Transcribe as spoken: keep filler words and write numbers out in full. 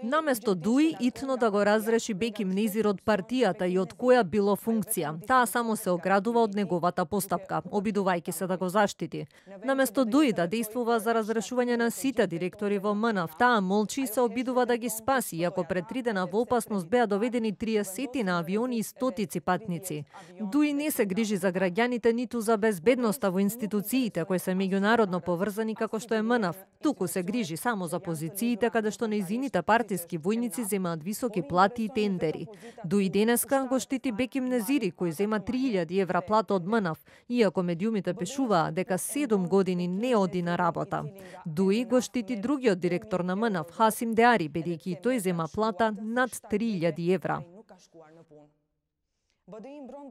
Наместо Дуи, итно да го разреши Беким Незир од партијата и од која било функција. Таа само се оградува од неговата постапка, обидувајќи се да го заштити. Наместо Дуи да действува за разрешување на сите директори во МНАФ, таа молчи и се обидува да ги спаси, иако пред три дена во опасност беа доведени триесет на авиони и стотици патници. Дуи не се грижи за граѓаните ниту за безбедноста во институциите кои се меѓународно поврзани како што е МНАФ. Туку се грижи само за позициите каде што нејзините партиски војници земаат високи плати и тендери. Дуи денеска го штити Беким Незири, кој зема три илјади евра плата од МНАФ, иако медиумите пишуваа дека седум години не оди на работа. Дуи го штити другиот директор на МНАФ, Хасим Деари, бидејќи и тој зема плата над три илјади евра.